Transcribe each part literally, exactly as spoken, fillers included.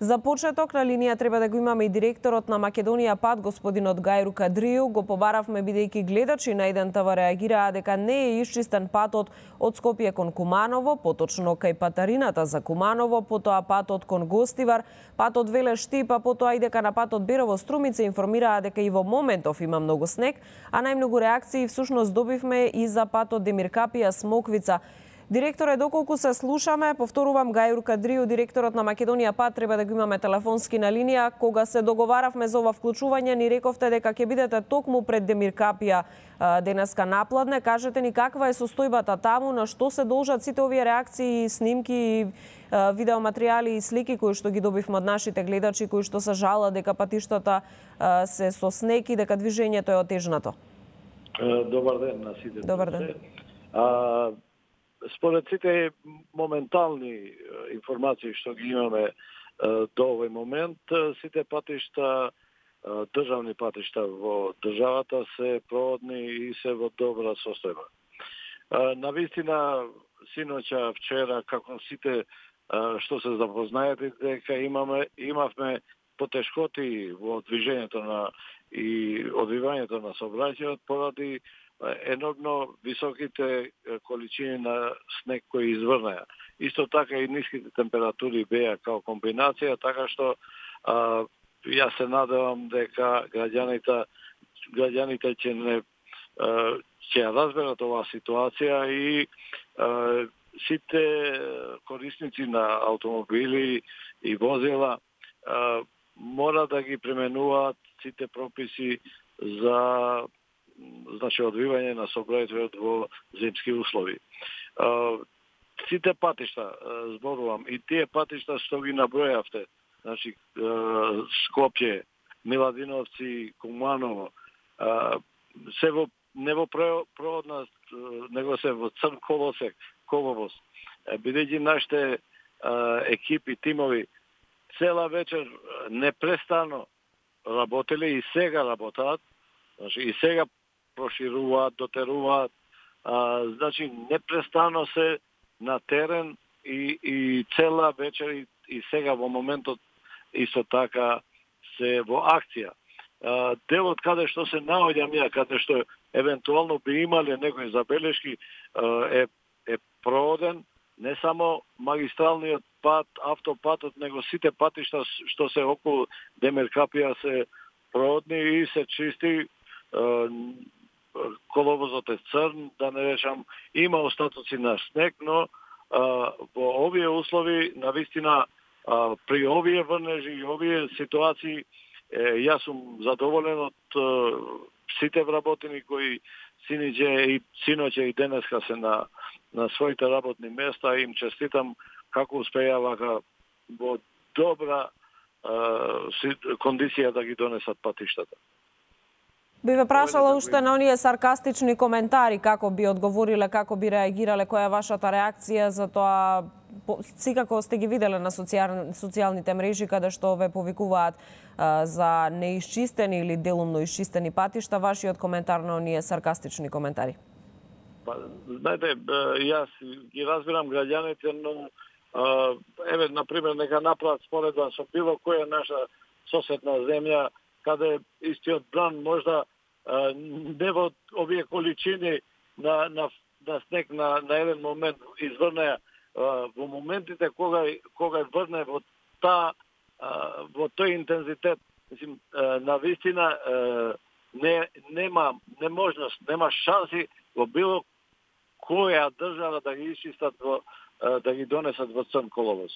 За почеток на линија треба да го имаме и директорот на Македонија Пат, господинот Гајру Кадрију. Го побаравме бидејќи гледачи на еден ТВ реагираа дека не е исчистен патот од Скопје кон Куманово, поточно кај патарината за Куманово, потоа патот кон Гостивар, патот Велеш-Штип, а потоа и дека на патот Берово-Струмица информираа дека и во моментов има многу снег, а најмногу реакции всушност добивме и за патот Демиркапија-Смоквица. Директоре, доколку се слушаме, повторувам, Гајру Кадрију, директорот на Македонија Пат, треба да го имаме телефонски на линија. Кога се договаравме за ова вклучување, ни рековте дека ќе бидете токму пред Демиркапија денеска напладне. Кажете ни каква е состојбата таму, на што се должат сите овие реакции, снимки, видеоматеријали и слики кои што ги добивме од нашите гледачи, кои што се жалат дека патиштата се со снег и дека движењето е отежнато. Добар ден на сите. Добар ден. А, Според сите моментални информации што ги имаме до овој момент, сите патишта, државни патишта во државата се проводни и се во добра состојба. Навистина, синоќа, вчера, како сите што се запознаете, дека имаме, имавме потешкоти во движењето на и одвивањето на сообраќајот поради енормно високите количини на снег кои изврнеа. Исто така и ниските температури беа као комбинација, така што а, јас се надевам дека граѓаните граѓаните ќе не а, ќе разберат оваа ситуација и а, сите корисници на аутомобили и возила а, мора да ги применуваат сите прописи за значи одвивање на сообраќајот во зимски услови. Сите патишта, зборувам, и тие патишта што ги набројавте, значи Скопје, Миладиновци, Куманово, се во не во проводна, него се во црн колосек, коловоз. Бидејќи нашите екипи, тимови цела вечер непрестано работеле и сега работаат, значи и сега прошируваат, дотеруваат, а, значи непрестано се на терен и, и цела вечер и, и сега во моментот исто така се во акција. А, делот каде што се наоѓам ја, каде што евентуално би имале некои забелешки, а, е, е проводен не само магистралниот пат, автопатот, него сите патишта што се околу Демиркапија се проводни и се чисти. Коловозот е црн, да не речам, има остатоци на снег, но а, во овие услови, навистина, а, при овие врнежи и овие ситуации, е, јас сум задоволен од а, сите вработени кои синиđe и синоќe и денеска се на, на своите работни места. Им честитам како успејаваха во добра а, кондиција да ги донесат патиштата. Би ве прашала уште на оние саркастични коментари, како би одговориле, како би реагирале, која е вашата реакција за тоа, секако сте ги виделе на социјал, социјалните мрежи каде што ве повикуваат а, за неисчистени или делумно исчистени патишта, вашиот коментар на оние саркастични коментари? Па, знаете, јас ги разбирам граѓаните, но а, еве, например, нека направат споредба со било која наша соседна земја, каде истиот бран можда а, не во овие количини на, на, на снег на, на еден момент изврнеа, во моментите кога кога врне во та во тој интензитет, мислим, на вистина не нема неможност, нема шанси во било која држава да ги исчистат во да ги донесат во црн коловоз.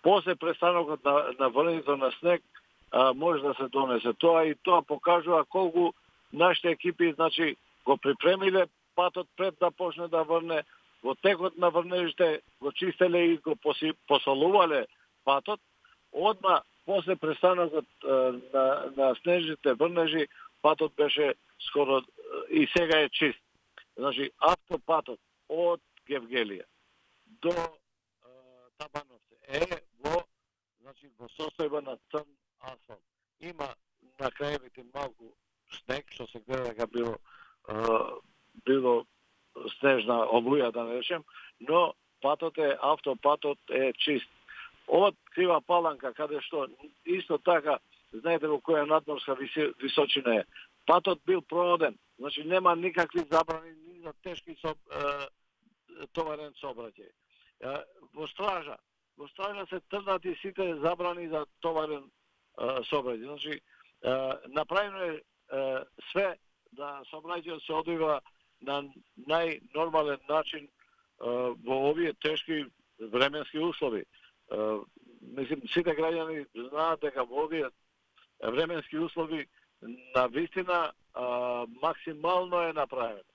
После престанокот на, на врнењето на снег а, може да се донесе тоа и тоа покажува колку нашите екипи, значи, го припремиле патот пред да почне да врне, во текот на врнежите го чистеле и го посолувале патот, одма после престанокот на, на снежните врнежи патот беше скоро и сега е чист. Значи, автопатот од Гевгелија до е, Табановци е во, значи, во состојба на црн асфалт. Има на краевите малку снег, што се гледа дека било, е, било снежна олуја, да не речем, но патот е, автопатот е чист. од Крива Паланка, каде што исто така, знаете во која надморска височина е, патот бил проводен, значи нема никакви забрани ни за тешки со, е, товарен сообраќај. Во стража, во стража се трнати сите забрани за товарен сообраќај. Значи, е, направено е, е све да сообраќајот се одвива на најнормален начин е, во овие тешки временски услови. Uh, мислим, сите граѓани знаат дека во овие временски услови на вистина uh, максимално е направено.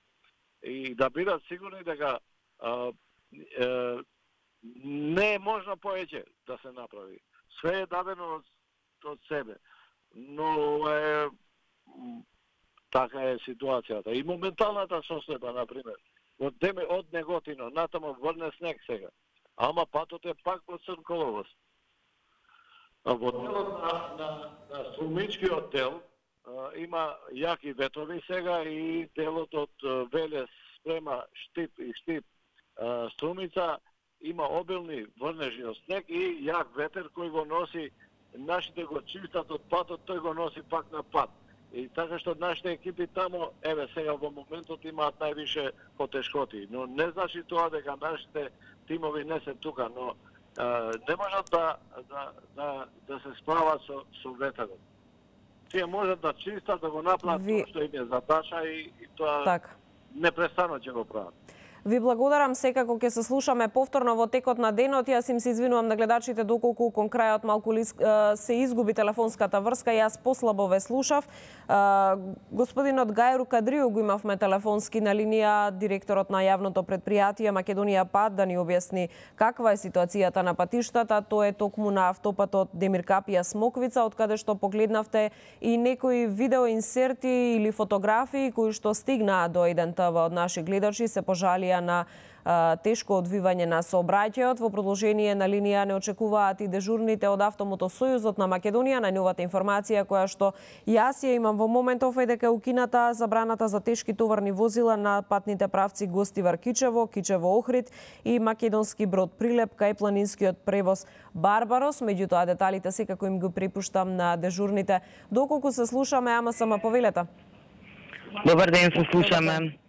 И да бидат сигурни дека uh, uh, не е можно повеќе да се направи. Све е дадено од, од себе. Но е така е ситуацијата. И моменталната состојба, например, од деме од Неготино натамо врне снег сега. Ама патот е пак во црн коловоз. Во делот на, на, на Струмичкиот дел а, има јаки ветрови сега и делот од Велес спрема Штип и Штип а, Струмица има обилни врнежи од снег и јак ветер кој го носи, нашите го чистат од патот, тој го носи пак на пат. И така што нашите екипи тамо, еве сега во моментот имаат највише потешкоти, но не значи тоа дека нашите тимови не се тука, но а, не можат да, да, да, да се справат со, со ветерот. Тие можат да чистат, да го направат Ви... што им е задача и, и тоа так. Непрестано ќе го прават. Ви благодарам, секако ќе се слушаме повторно во текот на денот. Јас им се извинувам на гледачите доколку кон крајот малку се изгуби телефонската врска, јас послабо ве слушав. Господинот Гајру Кадрију го имавме телефонски на линија, директорот на јавното предпријатие Македонија Пат, да ни објасни каква е ситуацијата на патиштата. Тоа е токму на автопатот Демир Капија Смоквица, од каде што погледнавте и некои видеоинсерти или фотографии кои што стигнаа до еден те вэ од наши гледачи, се пожалија на а, тешко одвивање на сообраќајот. Во продолжение на линија не очекуваат и дежурните од Автомотосојузот на Македонија. Најновата информација која што јас ја имам во моментов е дека е укината забраната за тешки товарни возила на патните правци Гостивар Кичево, Кичево Охрид и македонски брод Прилеп кај планинскиот превоз Барбарос. Меѓутоа деталите секако им го препуштам на дежурните. Доколку се слушаме, ама сама повелета. Добар ден, се слушаме.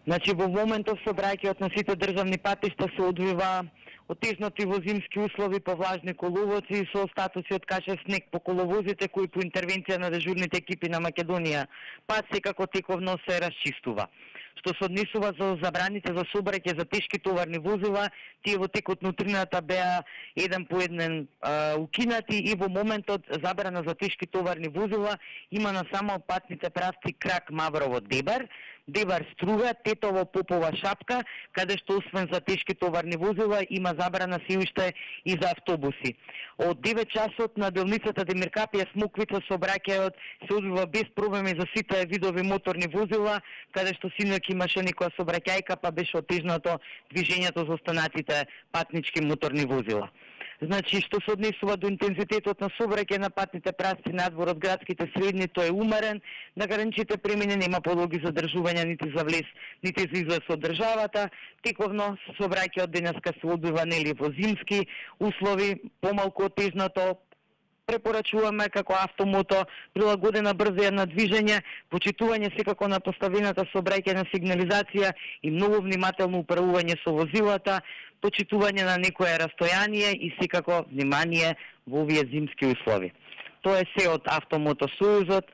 Значи, во моментов сообраќајот на сите државни патишта се одвива отежнати во зимски услови по влажни коловоци со статуси од каша снег по коловозите кои по интервенција на дежурните екипи на Македонија Пат секако тековно се расчистува. Што се однесува за забраните за сообраќај за тешки товарни возила, тие во текот на утрината беа еден по еден а, укинати и во моментот забрана за тешки товарни возила има на само патните правци Крак Маврово Дебар, Дебар Струга, Тетово Попова Шапка, каде што освен за тешки товарни возила има забрана се уште и за автобуси. Од девет часот на делницата Демир Капија Смоквица сообраќајот се одвива без проблеми за сите видови моторни возила, каде што синоќ имаше некоја сообраќајка, па беше отежнато движењето за останатите патнички моторни возила. Значи, што се однесува до интензитетот на сообраќај на патните правци надвор од градските средни, тој е умерен, на граничните премини нема подлоги за држување нити за влез, нити за излез од државата. Тековно сообраќајот денеска се одвива нели во зимски услови, помалку отежнато. Препорачуваме како Автомото прилагодена брзина на движење, почитување секако на поставената сообраќајна сигнализација и многу внимателно управување со возилата, почитување на некое растојание и секако внимание во овие зимски услови. Тоа е се од Автомотосојузот.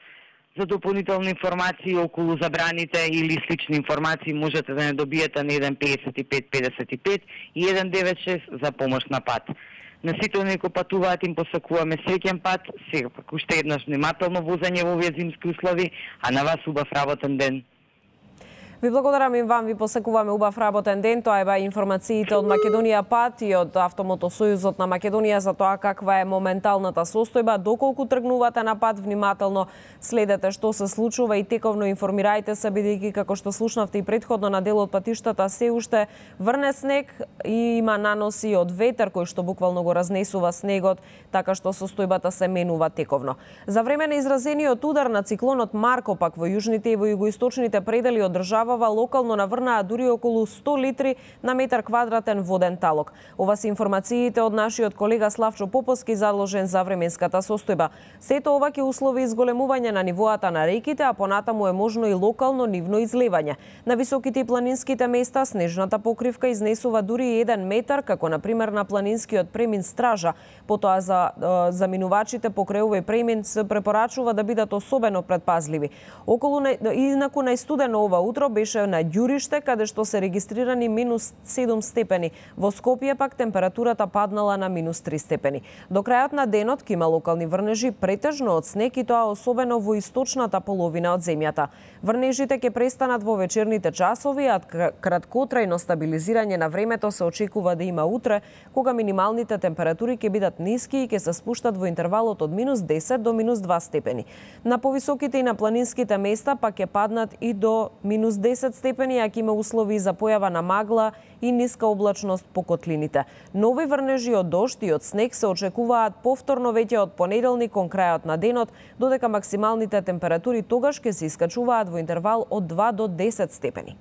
За дополнителни информации околу забраните или слични информации можете да не добиете на еден петдесет и пет петдесет и пет и еден девет шест за помош на пат. На сите оние кои патуваат им посакуваме среќен пат, сега пак уште еднаш внимателно возење во овие зимски услови, а на вас убав работен ден. Ви благодарам и вам, ви посекуваме убав работен ден. Тоа е ба информациите од Македонија Пат и од Автомотосојузот на Македонија за тоа каква е моменталната состојба. Доколку тргнувате на пат, внимателно следете што се случува и тековно информирајте се, бидејќи како што слушнавте и претходно на дел од патиштата се уште врне снег и има наноси од ветер кој што буквално го разнесува снегот, така што состојбата се менува тековно. За време на изразениот удар на циклонот Марко пак во јужните и во југоисточните предели од држава забава локално наврнаа дури околу сто литри на метар квадратен воден талок. Ова се информациите од нашиот колега Славчо Поповски, заложен за временската состојба. Сето ова ќе услови изголемување на нивоата на реките, а понатаму е можно и локално нивно изливање. На високите и планинските места снежната покривка изнесува дури еден метар, како на пример на планинскиот премин Стража. Потоа за заминувачите покрај овој премин се препорачува да бидат особено предпазливи. Околу инаку најстудено ова утро беше на Ѓуриште, каде што се регистрирани минус седум степени. Во Скопје пак температурата паднала на минус три степени. До крајот на денот ќе има локални врнежи претежно од снег и тоа особено во источната половина од земјата. Врнежите ќе престанат во вечерните часови, а краткотрајно стабилизирање на времето се очекува да има утре, кога минималните температури ќе бидат ниски и ќе се спуштат во интервалот од минус десет до минус два степени. На повисоките и на планинските места пак ќе паднат и до минус десет степени, а ќе има услови за појава на магла и ниска облачност по котлините. Нови врнежи од дожд и од снег се очекуваат повторно веќе од понеделник кон крајот на денот, додека максималните температури тогаш ќе се искачуваат во интервал од два до десет степени.